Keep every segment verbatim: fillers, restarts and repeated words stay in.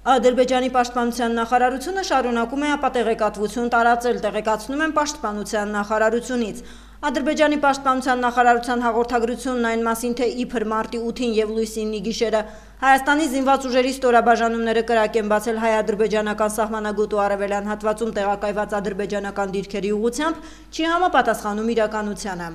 Ադրբեջանի պաշտպանության նախարարությունը շարունակում է ապատեղեկատվություն տարածել, տեղեկացնում են պաշտպանության նախարարությունից։ Ադրբեջանի պաշտպանության նախարարության հաղորդագրությունն այն մասին, թե իբր մարտի ութին և լույսինի գիշերը Հայաստանի զինված ուժերի ստորաբաժանումները կրակ են բացել հայ-ադրբեջանական սահմանագոտու արևելյան հատվածում տեղակայված ադրբեջանական դիրքերի ուղղությամբ, չի համապատասխանում իրականությանը։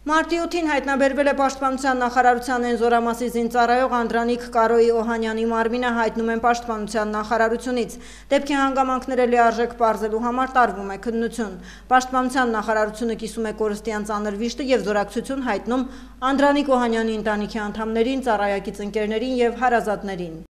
Մարտի ութին հայտնաբերվել է պաշտպանության նախարարության Էնզորամասի զինծառայող Անդրանիկ Կարոյի Օհանյանի մարմինը, հայտնում են պաշտպանության նախարարությունից։ Դեպքի հանգամանքները լիարժեք պարզելու համար տարվում է քննություն։ Պաշտպանության նախարարությունը կիսում է կորստյան ծանր վիշտը և զորակցություն հայտնում Անդրանիկ Օհանյանի ընտանիքի անդամներին, ծառայակից ընկերներին և հարազատներին։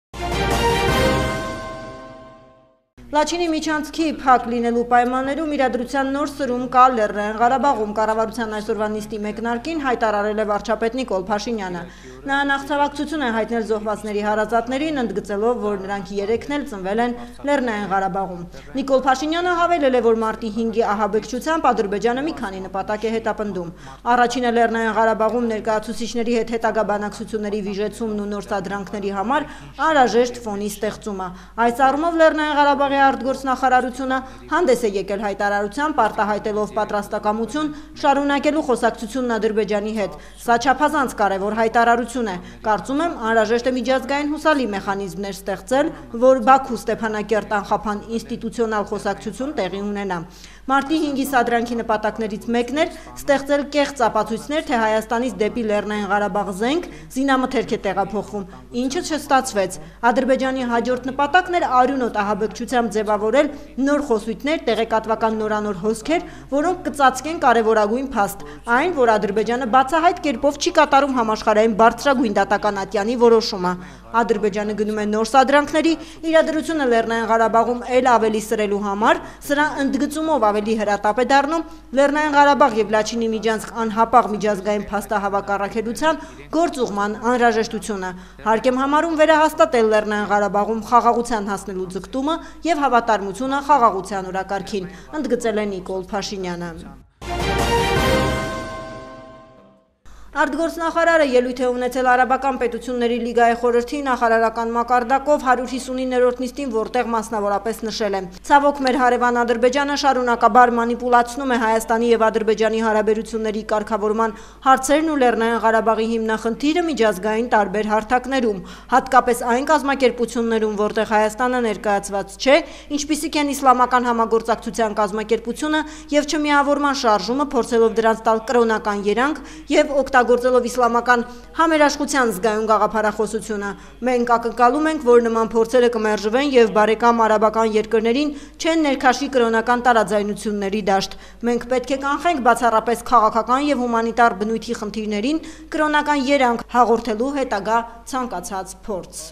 Լաչինի միջանցքի փակ լինելու պայմաններում իրադրության նոր սրում կա Լեռնային Ղարաբաղում, կառավարության այսօրվա նիստի մեկնարկին հայտարարել է վարչապետ Նիկոլ Փաշինյանը։ Նա նախցավակցություն է հայտնել զոհվածների հարազատներին, ընդգծելով, որ նրանք երեքն էլ ծնվել են Լեռնային Ղարաբաղում։ Նիկոլ Փաշինյանը հավելել է, որ մարտի հինգի ահաբեկչությամբ Ադրբեջանը մի քանի նպատակ է հետապնդում։ Առաջինը Լեռնային Ղարաբաղում ներկայացուցիչների հետ հետագա բանակցությունների վիժեցումն ու նոր սադրանքների համար անհրաժեշտ ֆոնի ստեղծումը։ Այս առումով Լեռնային Ղարաբաղի արտգործնախարարությունը հանդես է եկել հայտարարությամբ, արտահայտելով պատրաստակամություն շարունակելու խոսակցությունն Ադրբեջանի հետ։ Սա չափազանց կարևոր հայտարարություն է։ Կարծում եմ, անհրաժեշտ է միջազգային հուսալի մեխանիզմներ ստեղծել, որ Բաքու-Ստեփանակերտ անխափան ինստիտուցիոնալ խոսակցություն տեղի ունենա։ Մարտի հինգի սադրանքի նպատակներից մեկն էր ստեղծել կեղծ ապացույցներ, թե Հայաստանից դեպի Լեռնային Ղարաբաղ զենք զինամթերք է տեղափոխվում, ինչը չստացվեց։ Ադրբեջանի հաջորդ նպատակն էր արյունոտ ահաբեկչությամբ ձևավորել նոր խոսույթներ, տեղեկատվական նորանոր հոսքեր, որոնք կծածկեն կարևորագույն փաստ, այն, որ Ադրբեջանը բացահայտ կերպով չի կատարում համաշխարհային բարձրագույն դատական ատյանի որոշումը։ Ադրբեջանը գնում է նոր սադրանքների, իրադրությունը Լեռնային Ղարաբաղում էլ ավելի սրելու համար, սրա ընդգծումով ավելի հրատապ է դառնում Լեռնային Ղարաբաղ և Լաչինի միջանցք անհապաղ միջազգային փաստահավաքառակելության գործուղման անհրաժեշտությունը։ Հարկ եմ համարում վերահաստատել Լեռնային Ղարաբաղում խաղաղության հասնելու ձգտումը և հավատարմությունը խաղաղության օրակարգին, ընդգծել է Նիկոլ Փաշինյանը։ Արտգործնախարարը ելույթ է ունեցել Արաբական պետությունների լիգայի խորհրդի նախարարական մակարդակով հարյուր հիսունիններորդ նիստին, որտեղ մասնավորապես նշել է. Ցավոք, մեր հարևան Ադրբեջանը շարունակաբար մանիպուլացնում է Հայաստանի և Ադրբեջանի հարաբերությունների կարգավորման հարցերն ու Լեռնային Ղարաբաղի հիմնախնդիրը միջազգային տարբեր հարթակներում, հատկապես այն կազմակերպություններում, որտեղ Հայաստանը ներկայացված չէ, ինչպիսիք են Իսլամական համագործակցության կազմակերպությունը և Չմիավորման շարժումը, փորձելով դրանց տալ կրոնական երանգ և օգտագործելով իսլամական համերաշխության զգայուն գաղափարախոսությունը։ Մենք ակնկալում ենք, որ նման փորձերը կմերժվեն և բարեկամ արաբական երկրներին չեն ներքաշի կրոնական տարաձայնությունների դաշտ։ Մենք պետք է կանխենք բացառապես քաղաքական և հումանիտար բնույթի խնդիրներին կրոնական երանգ հաղորդելու հետագա ցանկացած փորձ։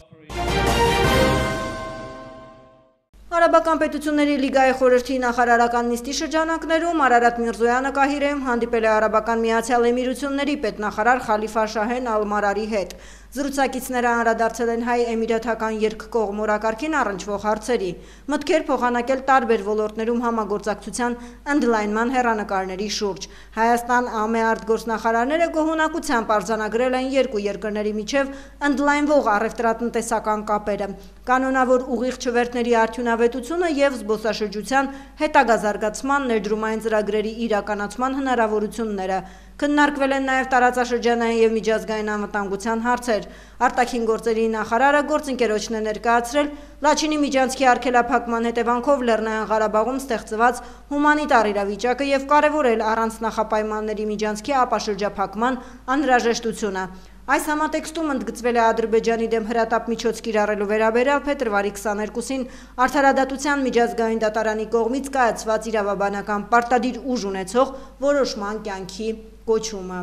Արաբական պետությունների լիգայի խորհրդի նախարարական նիստի շրջանակներում Արարատ Միրզոյանը Կահիրեում հանդիպել է Արաբական Միացյալ Էմիրությունների պետնախարար Խալիֆա Շահեն Ալ-Մարարի հետ։ Զրուցակիցները անդրադարձել են հայ-էմիրաթական երկկողմ օրակարգին առնչվող հարցերի, մտքեր փոխանակել տարբեր ոլորտներում համագործակցության ընդլայնման հեռանկարների շուրջ։ Հայաստան ԱՄԷ արտգործնախարարները գոհունակությամբ արձանագրել են երկու երկրների միջև ընդլայնվող առևտրատնտեսական կապերը, կանոնավոր ուղիղ չվերթների արդյունավետությունը և զբոսաշրջության հետագա զարգացման, ներդրումային ծրագրերի իրականացման հնարավորությունները։ Քննարկվել են նաև տարածաշրջանային և միջազգային անվտանգության հարցեր։ Արտաքին գործերի նախարարը գործընկերոջն է ներկայացրել Լաչինի միջանցքի արգելափակման հետևանքով Լեռնային Ղարաբաղում ստեղծված հումանիտար իրավիճակը և կարևորել առանց նախապայմանների միջանցքի ապաշրջափակման անհրաժեշտությունը։ Այս համատեքստում ընդգծվել է Ադրբեջանի դեմ հրատապ միջոց կիրառելու վերաբերյալ փետրվարի քսաներկուսին Արդարադատության միջազգային դատարանի կողմից կայացված իրավաբանական պարտադիր ուժ ունեցող որոշման կյանքի կոչումը։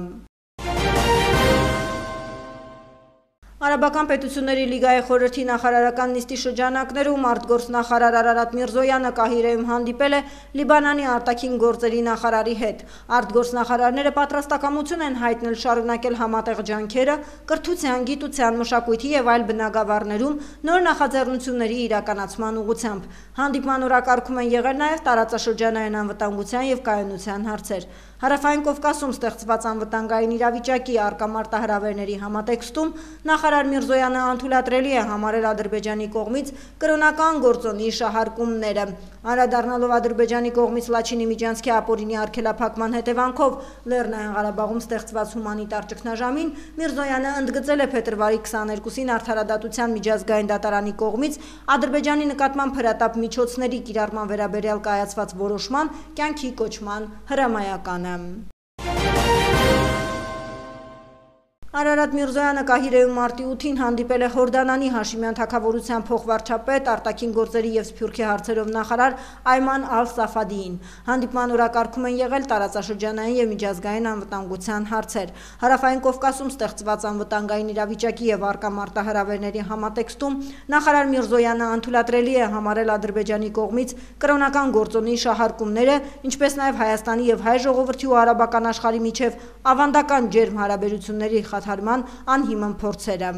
Արաբական պետությունների լիգայի խորհրդի նախարարական նիստի շրջանակներում արտգործնախարար Արարատ Միրզոյանը Կահիրեում հանդիպել է Լիբանանի արտաքին գործերի նախարարի հետ։ Արտգործնախարարները պատրաստակամություն են հայտնել շարունակել համատեղ ջանքերը կրթության, գիտության, մշակույթի և այլ բնագավառներում նոր նախաձեռնությունների իրականացման ուղղությամբ։ Հանդիպման օրակարգում են եղել նաև տարածաշրջանային անվտանգության և կայունության հարցեր։ Հարավային Կովկասում ստեղծված անվտանգային իրավիճակի առկա մարտահրավերների համատեքստում նախարարը Նախարար Միրզոյանը անթույլատրելի է համարել Ադրբեջանի կողմից կրոնական գործոնի շահարկումները։ Անդրադառնալով Ադրբեջանի կողմից Լաչինի Միջանցքի ապօրինի արգելափակման հետևանքով Լեռնային Ղարաբաղում ստեղծված հումանիտար ճգնաժամին, Միրզոյանը ընդգծել է փետրվարի քսաներկուսին Արդարադատության միջազգային դատարանի կողմից Ադրբեջանի նկատմամբ հրատապ միջոցների կիրառման վերաբերյալ կայացված որոշման կյանքի կոչման հրամայականը։ Արարատ Միրզոյանը Կահիրեում մարտի ութին հանդիպել է Հորդանանի Հաշիմյան թագավորության փոխվարչապետ, արտաքին գործերի և սփյուռքի հարցերով նախարար Այման Ալ-Սաֆադիին։ Հանդիպման օրակարգում են եղել տարածաշրջանային և միջազգային անվտանգության հարցեր։ Հարավային Կովկասում ստեղծված անվտանգային իրավիճակի և առկա մարտահրավերների համատեքստում նախարար Միրզոյանը անթույլատրելի է համարել Ադրբեջանի կողմից կրոնական գործոնի շահարկումները, ինչպես նաև Հայաստանի և հայ ժողովրդի ու արաբական աշխարհի միջև ավանդական ջերմ հարաբերությունների խաթարման անհիմն փորձերը։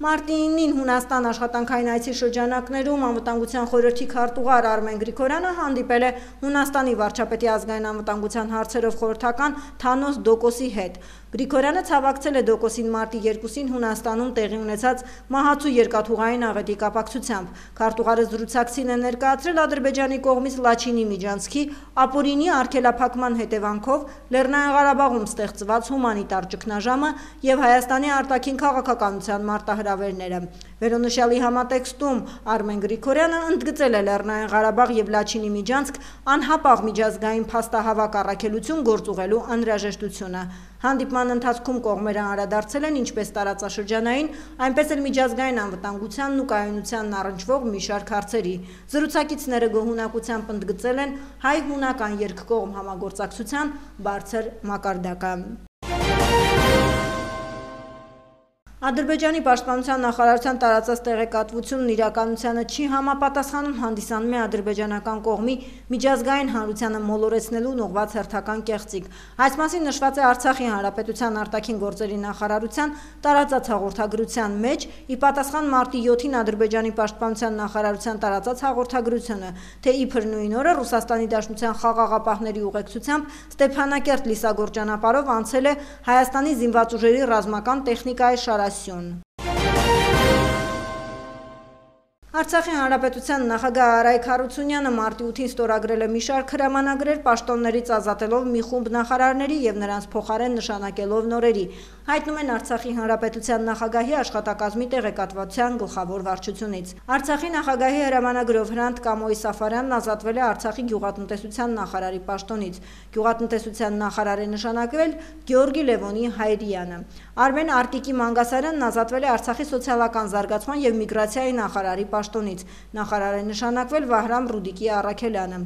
Մարտի իննին Հունաստան աշխատանքային այցի շրջանակներում անվտանգության խորհրդի քարտուղար Արմեն Գրիգորյանը հանդիպել է Հունաստանի վարչապետի ազգային անվտանգության հարցերով խորհրդական Թանոս Դոկոսի հետ։ Գրիգորյանը ցավակցել է Դոկոսին մարտի երկուսին Հունաստանում տեղի ունեցած մահացու երկաթուղային աղետի կապակցությամբ։ Քարտուղարը զրուցակցին է ներկայացրել Ադրբեջանի կողմից Լաչինի Միջանցքի ապօրինի արգելափակման հետևանքով Լեռնային Ղարաբաղում ստեղծված հումանիտար ճգնաժամը և Հայաստանի արտաքին քաղաքականության մարտահրավերները։ Վերոնշյալի համատեքստում Արմեն Գրիգորյանը ընդգծել է Լեռնային Ղարաբաղ և Լաչինի Միջանցք անհապաղ միջազգային փաստահավաք առաքելություն գործուղելու անհրաժեշտությունը։ Հանդիպման ընթացքում կողմերը անդրադարձել են ինչպես տարածաշրջանային, այնպես էլ միջազգային անվտանգությանն ու կայունությանն առնչվող մի շարք հարցերի։ Զրուցակիցները գոհունակությամբ ընդգծել են հայ-հունական երկկողմ համագործակցության բարձր մակարդակը։ Ադրբեջանի պաշտպանության նախարարության տարածած տեղեկատվությունն իրականությանը չի համապատասխանում հանդիսանում է ադրբեջանական կողմի միջազգային հանրությանը մոլորեցնելուն ուղղված հերթական կեղծիք։ Այս մասին նշված է Արցախի Հանրապետության արտաքին գործերի նախարարության տարածած հաղորդագրության մեջ, ի պատասխան մարտի յոթին Ադրբեջանի պաշտպանության նախարարության տարածած հաղորդագրությունը, թե իբր նույն օրը Ռուսաստանի Դաշնության խաղաղապահների ուղեկցությամբ Ստեփանակերտ Լիսագոր ճանապարհով անցել է Հայաստանի զինված ուժերի ռազմական տեխնիկայի շարասյուն։ Արցախի Հանրապետության նախագահ Արայք Հարությունյանը մարտի ութին ստորագրել է մի շարք հրամանագրեր պաշտոններից ազատելով մի խումբ նախարարների և նրանց փոխարեն նշանակելով նորերի, հայտնում են Արցախի Հանրապետության նախագահի աշխատակազմի տեղեկատվության գլխավոր վարչությունից։ Արցախի նախագահի հրամանագրով Հրանտ Կամոյի Սաֆարյանն ազատվել է Արցախի գյուղատնտեսության նախարարի պաշտոնից։ Գյուղատնտեսության նախարար է նշանակվել Գեորգի Լևոնի Հայրյանը։ Արմեն Արտիկի Մանգասարյանն ազատվել է Արցախի սոցիալական զարգացման և միգրացիայի նախարարի պաշտոնից։ Նախարար է նշանակվել Վահրամ Ռուդիկի Առաքելյանը։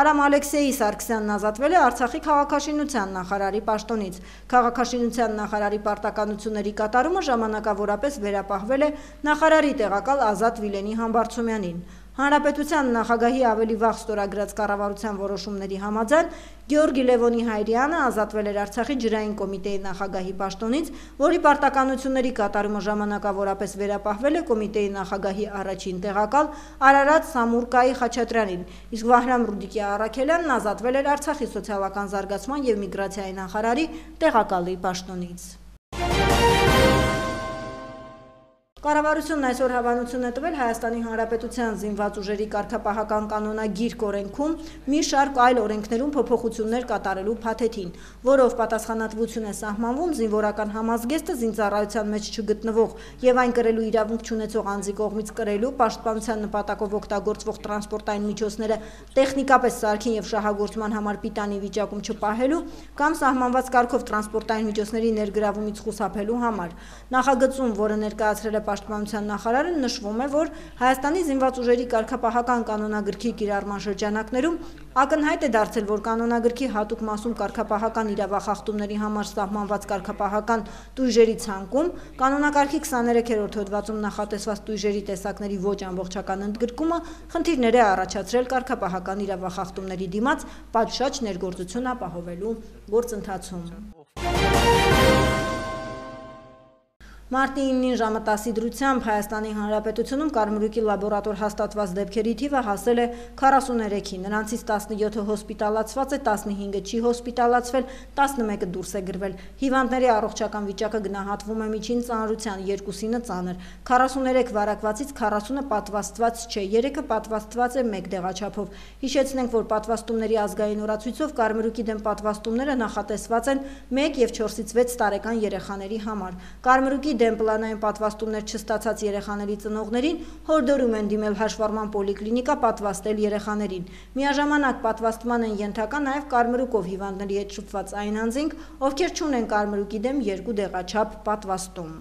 Արամ Ալեքսեյ Սարգսյանն ազատվել է Արցախի քաղաքաշինության նախարարի պաշտոնից։ Քաղաքաշինության նախարարի պարտականությունների կատարումը ժամանակավորապես վերապահվել է նախարարի տեղակալ Ազատ Վիլենի Համբարձումյանին։ Հանրապետության նախագահի ավելի վաղ ստորագրած կառավարության որոշումների համաձայն Գեորգի Լևոնի Հայրյանը ազատվել էր Արցախի ջրային կոմիտեի նախագահի պաշտոնից, որի պարտականությունների կատարումը ժամանակավորապես վերապահվել է կոմիտեի նախագահի առաջին տեղակալ Արարատ Սամուրկայի Խաչատրյանին, իսկ Վահրամ Ռուդիկի Առաքելյանն ազատվել էր Արցախի սոցիալական զարգացման և միգրացիայի նախարարի տեղակալի պաշտոնից։ Կառավարությունն այսօր հավանություն է տվել Հայաստանի Հանրապետության զինված ուժերի կարգապահական կանոնագիրք օրենքում մի շարք այլ օրենքներում փոփոխություններ կատարելու փաթեթին, որով պատասխանատվություն է սահմանվում զինվորական համազգեստը զինծառայության մեջ չգտնվող և այն կրելու իրավունք չունեցող անձի կողմից կրելու, պաշտպանության նպատակով օգտագործվող տրանսպորտային միջոցները տեխնիկապես սարքին և շահագործման համար պիտանի վիճակում չպահելու կամ սահմանված կարգով տրանսպորտային միջոցների ներգրավումից խուսափելու համար։ Նախագծում, որը ներկայացրել է Պաշտպանության նախարարը, նշվում է, որ Հայաստանի զինված ուժերի կարգապահական կանոնագրքի կիրառման շրջանակներում ակնհայտ է դարձել, որ կանոնագրքի հատուկ մասում կարգապահական իրավախախտումների համար սահմանված կարգապահական տույժերի ցանկում կանոնակարգի քսաներեքերորդ հոդվածում նախատեսված տույժերի տեսակների ոչ ամբողջական ընդգրկումը խնդիրներ է առաջացրել կարգապահական իրավախախտումների դիմաց պատշաճ ներգործություն ապահովելու գործընթացում։ Մարտի իննին ժամը տասի դրությամբ Հայաստանի Հանրապետությունում կարմրուկի լաբորատոր հաստատված դեպքերի թիվը հասել է քառասունուերեքի, նրանցից տասնյոթը հոսպիտալացված է, տասնհինգը չի հոսպիտալացվել, տասնմեկը դուրս է գրվել։ Հիվանդների առողջական վիճակը գնահատվում է միջին ծանրության, երկուսինը ծանր։ քառասունուերեք վարակվածից քառասունը պատվաստված չէ, երեքը պատվաստված է մեկ դեղաչափով։ Հիշեցնենք, որ պատվաստումների ազգային օրացույցով կարմրուկի դեմ պատվաստումները նախատեսված են մեկ և չորսից վեց տարեկան երեխաների համար։ Կարմրուկի դեմ պլանային պատվաստումներ չստացած երեխաների ծնողներին հորդորում են դիմել հաշվառման պոլիկլինիկա պատվաստել երեխաներին։ Միաժամանակ պատվաստման են ենթակա նաև կարմրուկով հիվանդների հետ շփված այն անձինք, ովքեր չունեն կարմրուկի դեմ երկու դեղաչափ պատվաստում։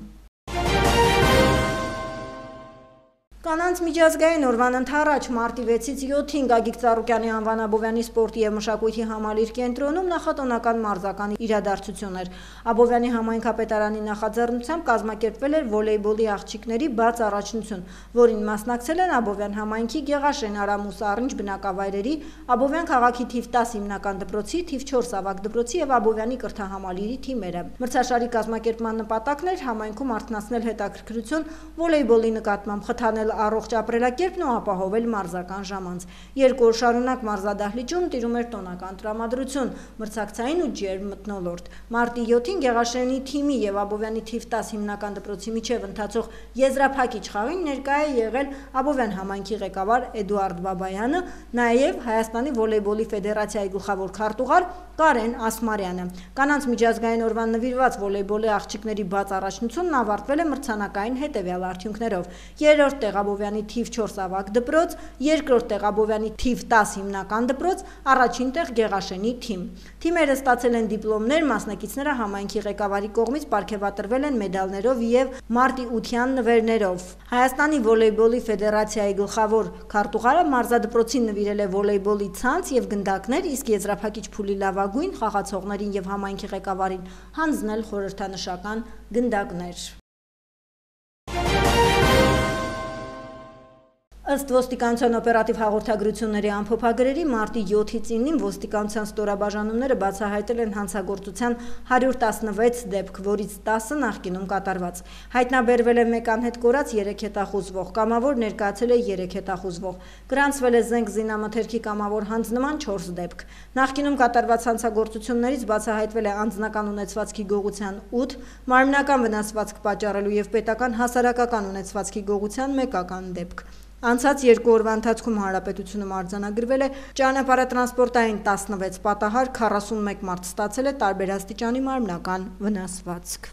Կանանց միջազգային օրվան ընդառաջ մարտի վեցից յոթին Գագիկ Ծառուկյանի անվան Աբովյանի սպորտի և մշակույթի համալիր կենտրոնում նախատոնական մարզական իրադարձություն էր։ Աբովյանի համայնքապետարանի նախաձեռնությամբ կազմակերպվել էր վոլեյբոլի աղջիկների բաց առաջնություն, որին մասնակցել են Աբովյան համայնքի Գեղաշեն, Արամուս, Առինջ բնակավայրերի, Աբովյան քաղաքի թիվ տաս հիմնական դպրոցի, թիվ չորս ավագ դպրոցի և Աբովյանի կրթահամալիրի թիմերը։ Մրցաշարի կազմակերպման նպատակն էր համայնքում արթնացնել հետաքրքրություն վոլեյբոլի նկատմամբ, խթանել առողջ ապրելակերպն ու ապահովել մարզական ժամանց։ Երկու օր շարունակ մարզադահլիճում տիրում էր տոնական տրամադրություն, մրցակցային ու ջերմ մթնոլորտ։ Մարտի յոթին Գեղաշենի թիմի և Աբովյանի թիվ տաս հիմնական դպրոցի միջև ընթացող եզրափակիչ խաղին ներկա է եղել Աբովյան համայնքի ղեկավար Էդուարդ Բաբայանը, նաև Հայաստանի վոլեյբոլի ֆեդերացիայի գլխավոր քարտուղար Կարեն Ասմարյանը։ Կանանց միջազգային օրվան նվիրված վոլեյբոլի աղջիկների բաց առաջնությունն ավարտվել է մրցանակային հետևյալ արդյունքներով. երրորդ տեղ Աբովյանի թիվ չորս ավագ դպրոց, երկրորդ տեղ Աբովյանի թիվ տաս հիմնական դպրոց, առաջին տեղ Գեղաշենի թիմ։ Թիմերը ստացել են դիպլոմներ, մասնակիցները համայնքի ղեկավարի կողմից պարգևատրվել են մեդալներով և մարտի ության նվերներով։ Հայաստանի վոլեյբոլի ֆեդերացիայի գլխավոր քարտուղարը մարզադպրոցին նվիրել է վոլեյբոլի ցանց և գնդակներ, իսկ եզրափակիչ փուլի լավագույն խաղացողներին և համայնքի ղեկավարին հանձնել խորհրդանշական գնդակներ։ Ըստ ոստիկանության օպերատիվ հաղորդագրությունների ամփոփագրերի մարտի յոթից իննին ոստիկանության ստորաբաժանումները բացահայտել են հանցագործության հարյուր տասնվեց դեպք, որից տասը նախկինում կատարված։ Հայտնաբերվել է մեկ անհետ կորած երեք հետախուզվող, կամավոր ներկայացել է երեք հետախուզվող, գրանցվել է զենք զինամթերքի կամավոր հանձնման չորս դեպք։ Նախկինում կատարված հանցագործություններից բացահայտվել է անձնական ունեցվածքի գողության ութ, մարմնական վնասվածք պատճառելու և պետական հասարակական ունեցվածքի գողության մեկական դեպք։ Անցած երկու օրվա ընթացքում հանրապետությունում արձանագրվել է ճանապարհատրանսպորտային տասնվեց պատահար, քառասունմեկ մարդ ստացել է տարբեր աստիճանի մարմնական վնասվածք։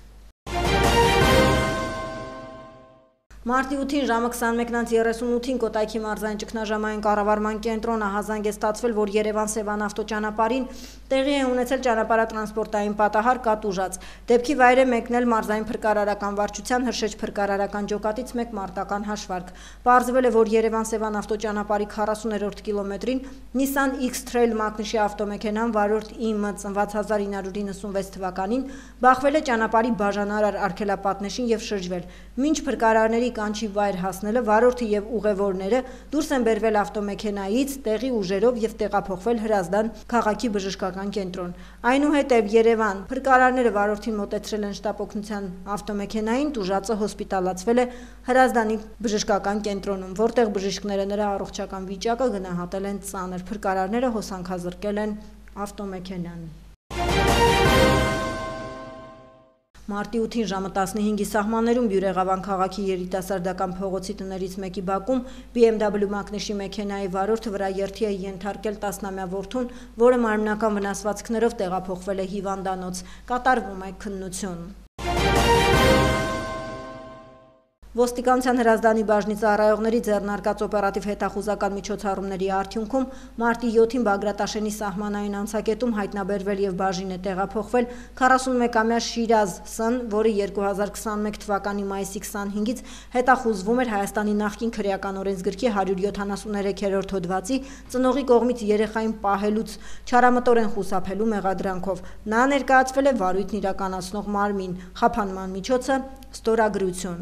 Մարտի ութին ժամը քսանմեկից երեսունութին Կոտայքի մարզային ճգնաժամային կառավարման կենտրոն ահազանգ է ստացվել, որ Երևան-Սևան ավտոճանապարհին տեղի է ունեցել ճանապարհատրանսպորտային պատահար կատուժած։ Դեպքի վայր է մեկնել մարզային փրկարարական վարչության Հրշեջ փրկարարական ջոկատից մեկ մարտական հաշվարկ։ Պարզվել է, որ Երևան-Սևան ավտոճանապարհի քառասուներորդ կիլոմետրին Nissan X-Trail մակնիշի ավտոմեքենան վարորդ I M ծնված հազար ինը հարյուր իննսունվեց թվականին բախվել է ճանապարհի բաժանարար արգելապատնեշին և շրջվել։ Մինչ փրկարարների կանչի վայր հասնելը վարորդը և ուղևորները դուրս են բերվել ավտոմեքենայից տեղի ուժերով և տեղափոխվել Հրազդան քաղաքի բժշկական կենտրոն։ Այնուհետև Երևան փրկարարները վարորդին մոտեցրել են շտապօգնության ավտոմեքենային, տուժածը հոսպիտալացվել է Հրազդանի բժշկական կենտրոնում, որտեղ բժիշկները նրա առողջական վիճակը գնահատել են ծանր։ Փրկարարները հոսանքազրկել են ավտոմեքենան։ Մարտի ութին ժամը տասնհինգի սահմաններում Բյուրեղավան քաղաքի երիտասարդական փողոցի տներից մեկի բակում B M W մակնիշի մեքենայի վարորդը վրա երթի է ենթարկել տասնամյա որդուն, որը մարմնական վնասվածքներով տեղափոխվել է հիվանդանոց։ Կատարվում է քննություն։ Ոստիկանության Հրազդանի բաժնի ծառայողների ձեռնարկած օպերատիվ հետախուզական միջոցառումների արդյունքում մարտի յոթին Բագրատաշենի սահմանային անցակետում հայտնաբերվել և բաժին է տեղափոխվել քառասունմեկամյա Շիրազ Ս-ն, որը երկու հազար քսանմեկ թվականի մայիսի քսանհինգից հետախուզվում էր Հայաստանի նախկին քրեական օրենսգրքի հարյուր յոթանասունութերորդ հոդվածի ծնողի կողմից երեխային պահելուց չարամտորեն խուսափելու մեղադրանքով։ Նա ներկայացվել է վարույթն իրականացնող մարմին, խափանման միջոցը ստորագրություն։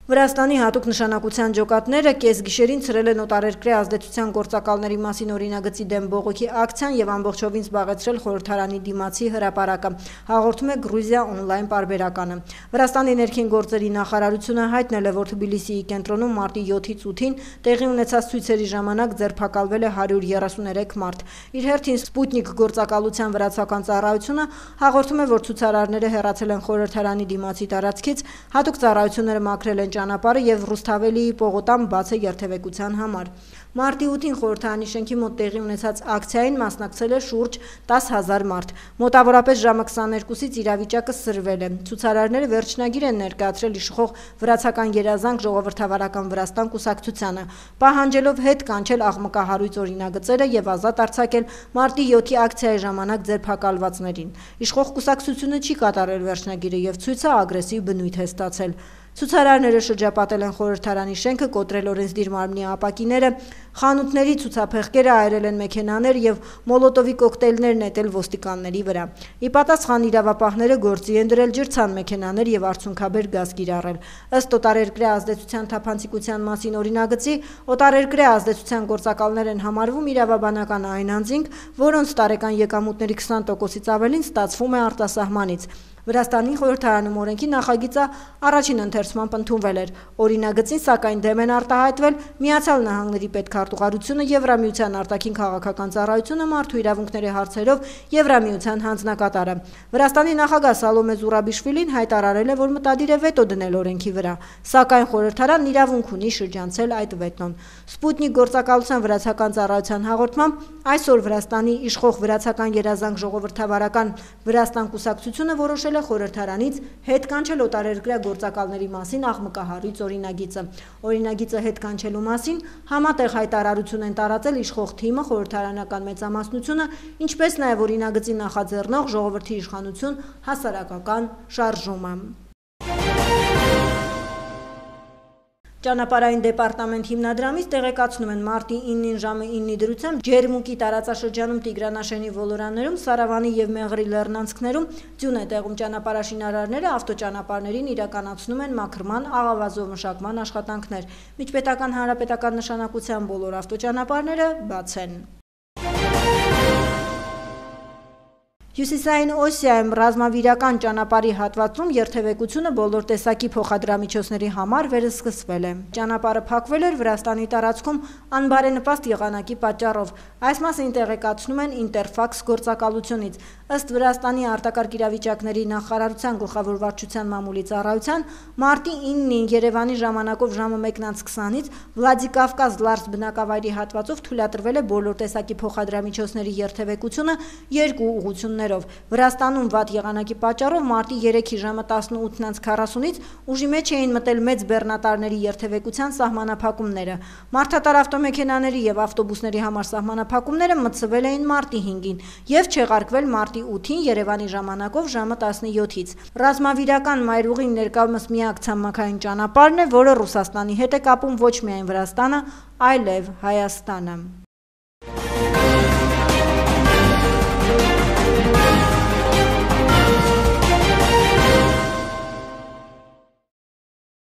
Վրաստանի հատուկ նշանակության ջոկատները կեսգիշերին ցրել են օտարերկրյա ազդեցության գործակալների մասին օրինագծի դեմ բողոքի ակցիան եւ ամբողջովին զբաղեցրել խորհրդարանի դիմացի հրապարակը, հաղորդում է Գրուզիա օնլայն պարբերականը։ Վրաստանի ներքին գործերի նախարարությունը հայտնել է, որ Թբիլիսիի կենտրոնում մարտի յոթից ութին տեղի ունեցած ցույցերի ժամանակ ձերբակալվել է հարյուր երեսուներեք մարդ։ Իր հերթին Սպուտնիկ գործակալության վրացական ծառայությունը հաղորդում է, որ ցուցարարները հեռացել են խորհրդարանի դիմացի տարածքից, հատուկ ծառայությունները մաքրել են ճանապարհը եւ Ռուսթավելիի պողոտան բաց է երթևեկության համար։ Մարտի ութին խորհրդարանի շենքի մոտ տեղի ունեցած ակցիային մասնակցել է շուրջ դաս հազար մարդ։ Մոտավորապես ժամը քսաներկուսից իրավիճակը սրվել է։ Ցուցարարները վերջնագիր են ներկայացրել իշխող վրացական երազանք ժողովրդավարական Վրաստան կուսակցությանը, պահանջելով հետ կանչել աղմկահարույց օրինագծերը եւ ազատ արձակել մարտի յոթի ակցիայի ժամանակ ձերբակալվածներին։ Իշխող կուսակցությունը չի կատարել վերջնագիրը եւ ցույցը ագրեսիվ բնույթ է ստացել։ Ցուցարարները շրջապատել են խորհրդարանի շենքը, կոտրել օրենսդիր մարմնի ապակիները, խանութների ցուցափեղկերը այրել են մեքենաներ եւ մոլոտովի կոկտեյլներ նետել ոստիկանների վրա։ Ի պատասխան իրավապահները գործի են դրել ջրցան մեքենաներ եւ արցունքաբեր գազ կիրառել։ Ըստ օտարերկրյա ազդեցության թափանցիկության մասին օրինագծի, օտարերկրյա ազդեցության գործակալներ են համարվում իրավաբանական այն անձինք, որոնց տարեկան եկամուտների քսան տոկոսից ավելին ստացվում է արտասահմանից։ Վրաստանի խորհրդարանում օրենքի նախագիծը առաջին ընթերցմամբ ընդունվել էր։ Օրինագծին սակայն դեմ են արտահայտվել Միացյալ Նահանգների պետքարտուղարությունը, Եվրամիության արտաքին քաղաքական ծառայությունը, մարդու իրավունքների հարցերով Եվրամիության հանձնակատարը։ Վրաստանի նախագահ Սալոմե Զուրաբիշվիլին հայտարարել է, որ մտադիր է վետո դնել օրենքի վրա, սակայն խորհրդարանն իրավունք ունի շրջանցել այդ վետոն։ Սպուտնիկ գործակալության վրացական ծառայության հաղորդմամբ այսօր Վրաստանի իշխող վրացական երազանք ժողովրդավարական Վրաստան կուսակցությունը որոշել է խորհրդարանից հետ կանչել օտարերկրյա գործակալների մասին աղմկահարույց օրինագիծը։ Օրինագիծը հետ կանչելու մասին համատեղ հայտարարություն են տարածել իշխող թիմը, խորհրդարանական մեծամասնությունը, ինչպես նաև օրինագծի նախաձեռնող ժողովրդի իշխանություն հասարակական շարժումը։ Ճանապարհային դեպարտամենտ հիմնադրամից տեղեկացնում են մարտի իննին ժամը իննի դրությամբ Ջերմուկի տարածաշրջանում Տիգրանաշենի ոլորաններում, Սարավանի եւ Մեղրի լեռնանցքներում ձյուն է տեղում ճանապարհաշինարարները ավտոճանապարհներին իրականացնում են մաքրման, աղավազով մշակման աշխատանքներ։ Միջպետական հանրապետական նշանակության բոլոր ավտոճանապարհները բաց են։ Հյուսիսային Օսիայում ռազմավիրական ճանապարհի հատվածում երթևեկությունը բոլոր տեսակի փոխադրամիջոցների համար վերսկսվել է։ Ճանապարհը փակվել էր Վրաստանի տարածքում անբարենպաստ եղանակի պատճառով։ Այս մասին տեղեկացնում են Ինտերֆաքս գործակալությունից։ Ըստ Վրաստանի արտակարգ իրավիճակների նախարարության գլխավոր վարչության մամուլի ծառայության, մարտի իննին Երևանի ժամանակով ժամը մեկն անց քսանից Վլադիկավկազ Լարս բնակավայրի հատվածով թույլատրվել է բոլոր տեսակի փոխադրամիջոցների երթևեկությունը երկու ուղղություններով։ Վրաստանում վատ եղանակի պատճառով մարտի երեքի ժամը տասնութն անց քառասունից ուժի մեջ էին մտել մեծ բեռնատարների երթևեկության սահմանափակումները։ Մարդատար ավտոմեքենաների եւ ավտոբուսների համար սահմանափակումները մտցվել էին մարտի հինգին եւ չեղարկվել մարտի ութին Երևանի ժամանակով ժամը տասնյոթից։ Ռազմավիրական մայրուղին ներկայումս միակ ցամաքային ճանապարհն է, որը Ռուսաստանի հետ է կապում ոչ միայն Վրաստանը, այլև Հայաստանը։